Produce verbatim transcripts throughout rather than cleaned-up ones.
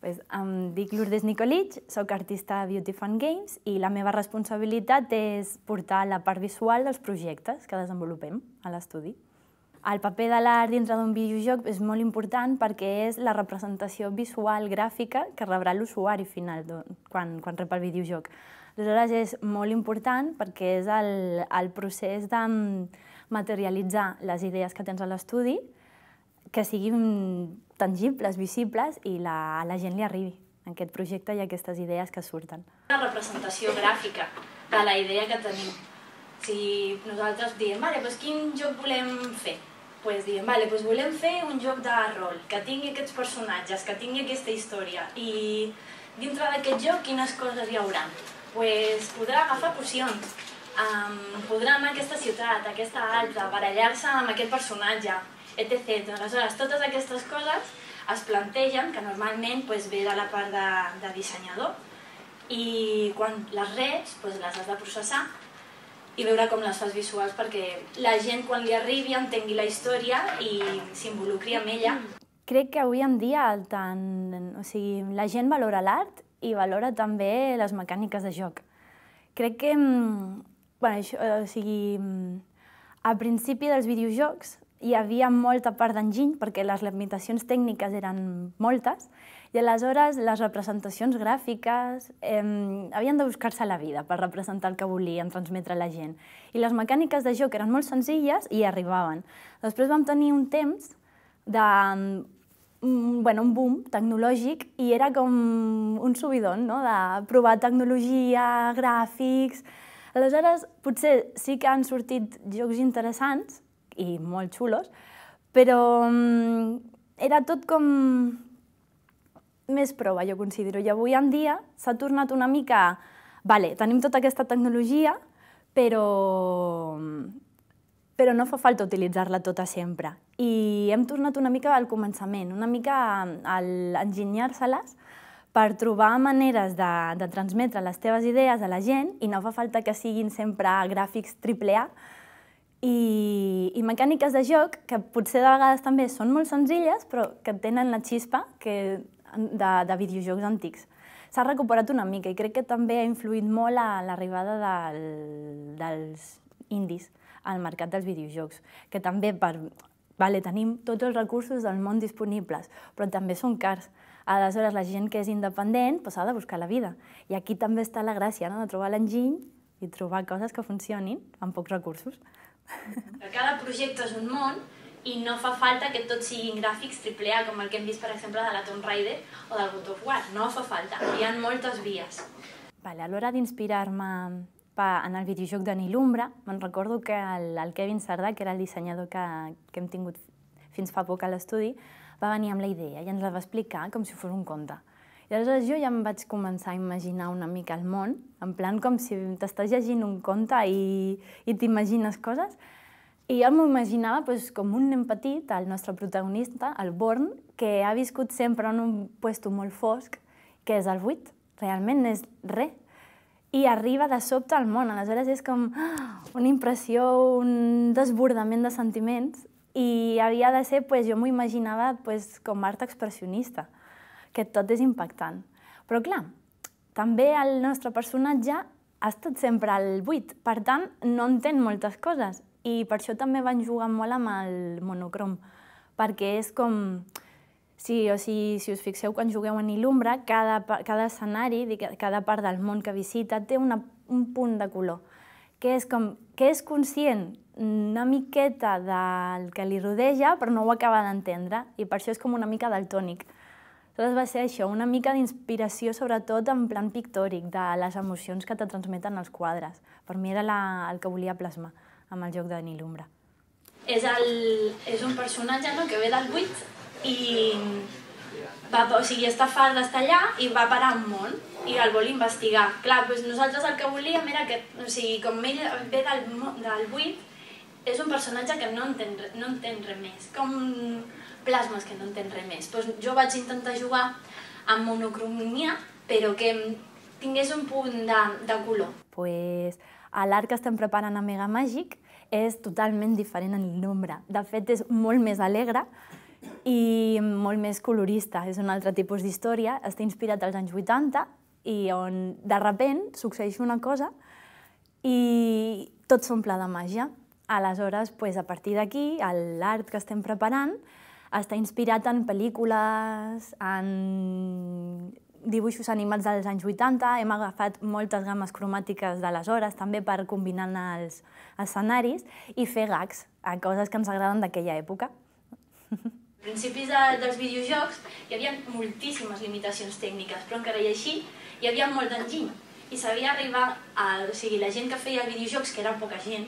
Pues, em dic Lourdes Nicolich, soc artista Beauty Fun Games i la meva responsabilitat és portar la part visual dels projectes que desenvolupem a l'estudi. El paper de l'art dintre d'un videojoc és molt important perquè és la representació visual gràfica que rebrà l'usuari final quan, quan rep el videojoc. Aleshores és molt important perquè és el, el procés de materialitzar les idees que tens a l'estudi, que siguin tangibles, visibles i la, a la gent li arribi aquest projecte i aquestes idees que surten. Una representació gràfica de la idea que tenim. Si nosaltres diem, vale, doncs quin joc volem fer? Pues diem, vale, doncs volem fer un joc de rol, que tingui aquests personatges, que tingui aquesta història. I dintre d'aquest joc, quines coses hi haurà? Pues podrà agafar pocions, um, podrà anar a aquesta ciutat, a aquesta altra, barallar-se amb aquest personatge, etcètera. Aleshores, totes aquestes coses es plantegen, que normalment pues, ve de la part de, de dissenyador, i quan les reps pues, les has de processar i veure com les fas visuals perquè la gent quan li arribi entengui la història i s'involucri amb ella. Crec que avui en dia tant, o sigui, la gent valora l'art i valora també les mecàniques de joc. Crec que, bueno, això, o sigui, al principi dels videojocs hi havia molta part d'enginy perquè les limitacions tècniques eren moltes i aleshores les representacions gràfiques eh, havien de buscar-se la vida per representar el que volien transmetre a la gent. I les mecàniques de joc eren molt senzilles i arribaven. Després vam tenir un temps de bueno, un boom tecnològic i era com un subidon, no? De provar tecnologia, gràfics. Aleshores, potser sí que han sortit jocs interessants i molt xulos, però era tot com més prova, jo considero. I avui en dia s'ha tornat una mica... Vale, tenim tota aquesta tecnologia, però, però no fa falta utilitzar-la tota sempre. I hem tornat una mica al començament, una mica a enginyar-se-les per trobar maneres de, de transmetre les teves idees a la gent i no fa falta que siguin sempre gràfics triple A, I, i mecàniques de joc que potser de vegades també són molt senzilles però que tenen la xispa que, de, de videojocs antics. S'ha recuperat una mica i crec que també ha influït molt a l'arribada del, dels indis al mercat dels videojocs, que també per, vale, tenim tots els recursos del món disponibles, però també són cars. Aleshores, la gent que és independent doncs, ha de buscar la vida. I aquí també està la gràcia, no? De trobar l'enginy i trobar coses que funcionin amb pocs recursos. Cada projecte és un món i no fa falta que tots siguin gràfics triple A, com el que hem vist, per exemple, de la Tomb Raider o del God of War. No fa falta, hi ha moltes vies. Vale, a l'hora d'inspirar-me en el videojoc de Nilumbra, me'n recordo que el, el Kevin Sardà, que era el dissenyador que, que hem tingut fins fa poc a l'estudi, va venir amb la idea i ens la va explicar com si fos un conte. I aleshores jo ja em vaig començar a imaginar una mica el món, en plan com si t'estàs llegint un conte i, i t'imagines coses. I jo m'ho imaginava pues, com un nen petit, el nostre protagonista, el Born, que ha viscut sempre en un puesto molt fosc, que és el buit, realment és res. I arriba de sobte al món, aleshores és com una impressió, un desbordament de sentiments i havia de ser, pues, jo m'ho imaginava pues, com art expressionista, que tot és impactant. Però clar, també el nostre personatge ha estat sempre al buit, per tant no entén moltes coses i per això també van jugar molt amb el monocrom, perquè és com... Sí, o sigui, si us fixeu quan jugueu a Nilumbra, cada, cada escenari, cada part del món que visita té una, un punt de color, que és, com, que és conscient una miqueta del que li rodeja, però no ho acaba d'entendre, i per això és com una mica daltònic. Aleshores va ser això, una mica d'inspiració, sobretot en plan pictòric, de les emocions que te transmeten els quadres. Per mi era la, el que volia plasmar amb el joc de Nilumbra. És, el, és un personatge no, que ve del buit i va, o sigui, està fart d'estar allà i va parar un món i el vol investigar. Clar, doncs nosaltres el que volíem era que, o sigui, com ell ve del, del buit, és un personatge que no entén, no entén res més. Com plasmes que no entén res més. Doncs jo vaig intentar jugar amb monocromia, però que tingués un punt de, de color. Pues, l'art que estem preparant a Mega Màgic és totalment diferent a Nilumbra. De fet, és molt més alegre i molt més colorista. És un altre tipus d'història, està inspirat als anys vuitanta i on de sobte succeeix una cosa i tot s'omple de màgia. Aleshores, a partir d'aquí, l'art que estem preparant està inspirat en pel·lícules, en dibuixos animats dels anys vuitanta, hem agafat moltes gammes cromàtiques d'aleshores, també per combinar els escenaris i fer gags a coses que ens agraden d'aquella època. Als principis dels videojocs hi havia moltíssimes limitacions tècniques, però encara i així hi havia molt d'enginy i sabia arribar a... O sigui, la gent que feia videojocs, que era poca gent,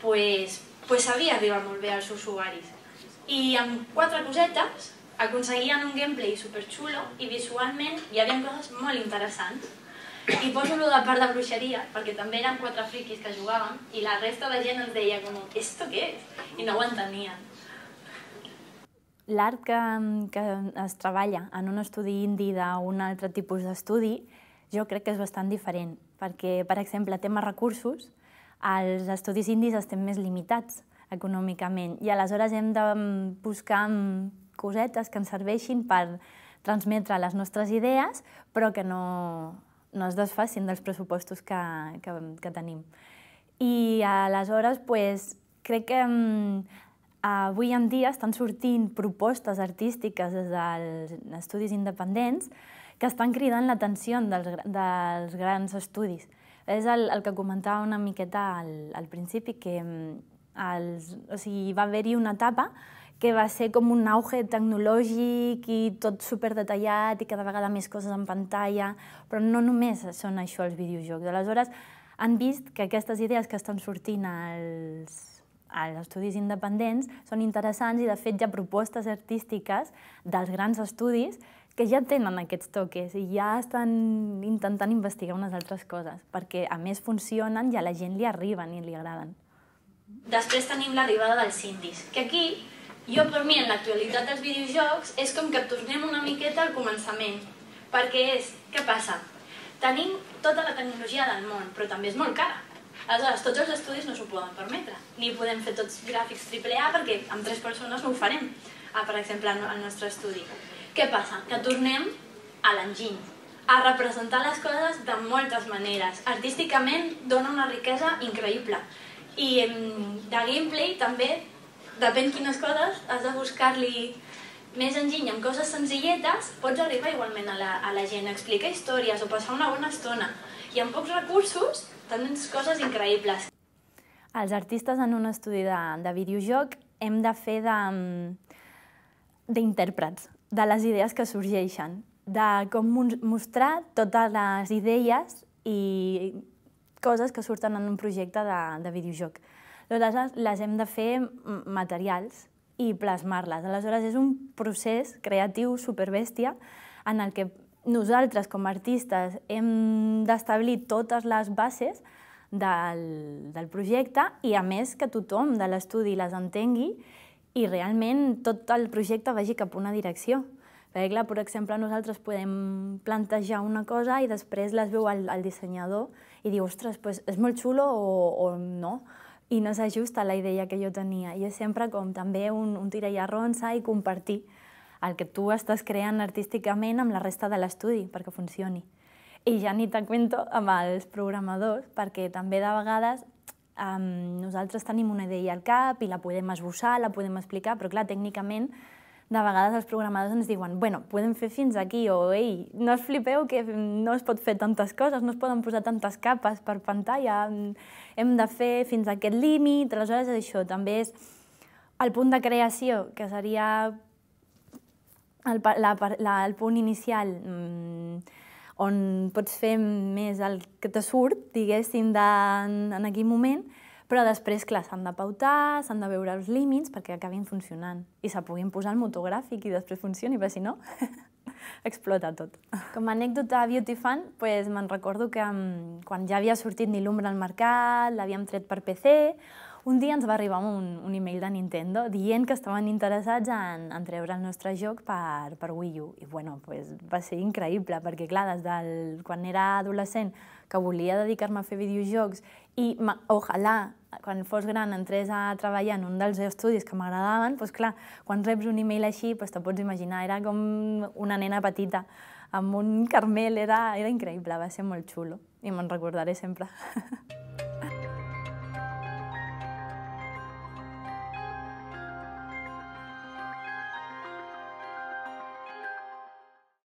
doncs sabia arribar molt bé als usuaris. I amb quatre cosetes aconseguien un gameplay superxulo i visualment hi havia coses molt interessants. I poso-lo de part de bruixeria, perquè també eren quatre friquis que jugaven i la resta de gent ens deia com, ¿esto qué es? I no ho entenien. L'art que, que es treballa en un estudi indi d'un altre tipus d'estudi, jo crec que és bastant diferent, perquè, per exemple, tema recursos, els estudis indis estem més limitats econòmicament i aleshores hem de buscar cosetes que ens serveixin per transmetre les nostres idees, però que no, no es desfacin dels pressupostos que, que, que tenim. I aleshores, pues, crec que avui en dia estan sortint propostes artístiques des dels estudis independents que estan cridant l'atenció dels, dels grans estudis. És el, el que comentava una miqueta al, al principi, que els, o sigui, va haver-hi una etapa que va ser com un auge tecnològic i tot superdetallat i cada vegada més coses en pantalla, però no només són això els videojocs. Aleshores, han vist que aquestes idees que estan sortint als als estudis independents són interessants i, de fet, hi ha propostes artístiques dels grans estudis que ja tenen aquests toques i ja estan intentant investigar unes altres coses, perquè, a més, funcionen i a la gent li arriben i li agraden. Després tenim l'arribada dels indis, que aquí, jo per mi, en l'actualitat dels videojocs, és com que tornem una miqueta al començament, perquè és, què passa? Tenim tota la tecnologia del món, però també és molt cara. Aleshores, tots els estudis no s'ho poden permetre, ni podem fer tots gràfics triple A perquè amb tres persones no ho farem, per exemple, al nostre estudi. Què passa? Que tornem a l'enginy, a representar les coses de moltes maneres. Artísticament dona una riquesa increïble. I de gameplay també, depèn quines coses, has de buscar-li més enginy amb coses senzilletes, pots arribar igualment a la, a la gent, explicar històries o passar una bona estona. I amb pocs recursos tens coses increïbles. Els artistes en un estudi de, de videojoc hem de fer d'intèrprets de, de les idees que sorgeixen, de com mostrar totes les idees i coses que surten en un projecte de, de videojoc. Aleshores, les hem de fer materials i plasmar-les. Aleshores, és un procés creatiu superbèstia en el que nosaltres, com a artistes, hem d'establir totes les bases del, del projecte i, a més, que tothom de l'estudi les entengui i realment tot el projecte vagi cap a una direcció. Perquè, clar, per exemple, nosaltres podem plantejar una cosa i després les veu el, el dissenyador i diu, ostres, pues, és molt xulo o, o no, i no s'ajusta a la idea que jo tenia. I és sempre com també un, un tira i arronsa i compartir el que tu estàs creant artísticament amb la resta de l'estudi perquè funcioni. I ja ni te cuento amb els programadors, perquè també de vegades um, nosaltres tenim una idea al cap i la podem esbossar, la podem explicar, però clar, tècnicament de vegades els programadors ens diuen bueno, podem fer fins aquí, o ei, no us flipeu que no es pot fer tantes coses, no es poden posar tantes capes per pantalla, hem de fer fins a aquest límit. Aleshores, això també és el punt de creació, que seria El, la, la, el punt inicial mmm, on pots fer més el que te surt, diguéssim, de, en, en aquell moment, però després, clar, s'han de pautar, s'han de veure els límits perquè acabin funcionant i se puguin posar el motogràfic i després funcioni, perquè si no, explota tot. Com a anècdota Beauty Fan, pues, me'n recordo que um, quan ja havia sortit Nilumbra al mercat, l'havíem tret per P C, Un dia ens va arribar un, un email de Nintendo dient que estaven interessats en, en treure el nostre joc per, per Wii U. I bueno, pues, va ser increïble, perquè clar, des del, quan era adolescent que volia dedicar-me a fer videojocs i ojalà quan fos gran entrés a treballar en un dels estudis que m'agradaven, doncs clar, quan reps un email així, doncs te pots imaginar, era com una nena petita amb un carmel, era, era increïble, va ser molt xulo i me'n recordaré sempre.